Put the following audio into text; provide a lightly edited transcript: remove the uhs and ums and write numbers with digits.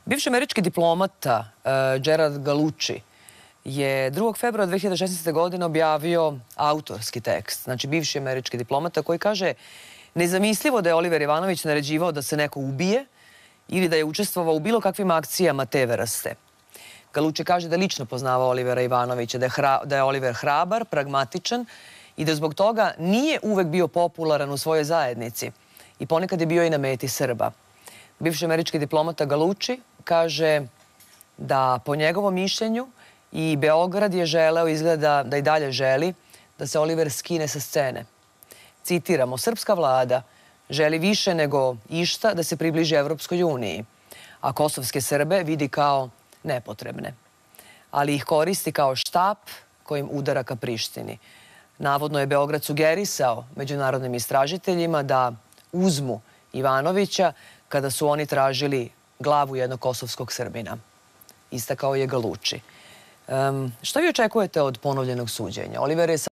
Bivši američki diplomata Gerard Gallucci je 2. februara 2016. godine objavio autorski tekst. Znači, bivši američki diplomata koji kaže: nezamislivo da je Oliver Ivanović naređivao da se neko ubije ili da je učestvovao u bilo kakvim akcijama te vrste. Gallucci kaže da je lično poznavao Olivera Ivanovića, da je Oliver hrabar, pragmatičan i da zbog toga nije uvek bio popularan u svojoj zajednici i ponekad je bio i na meti Srba. Bivši američki diplomata Gallucci kaže da po njegovom mišljenju i Beograd je želeo, izgleda da i dalje želi, da se Oliver skine sa scene. Citiramo: srpska vlada želi više nego išta da se približi Evropskoj uniji, a kosovske Srbe vidi kao nepotrebne, ali ih koristi kao štap kojim udara ka Prištini. Navodno je Beograd sugerisao međunarodnim istražiteljima da uzmu Ivanovića kada su oni tražili glavu jednog kosovskog Srbina. Istakao je Gallucci. Šta vi očekujete od ponovljenog suđenja? Oliver je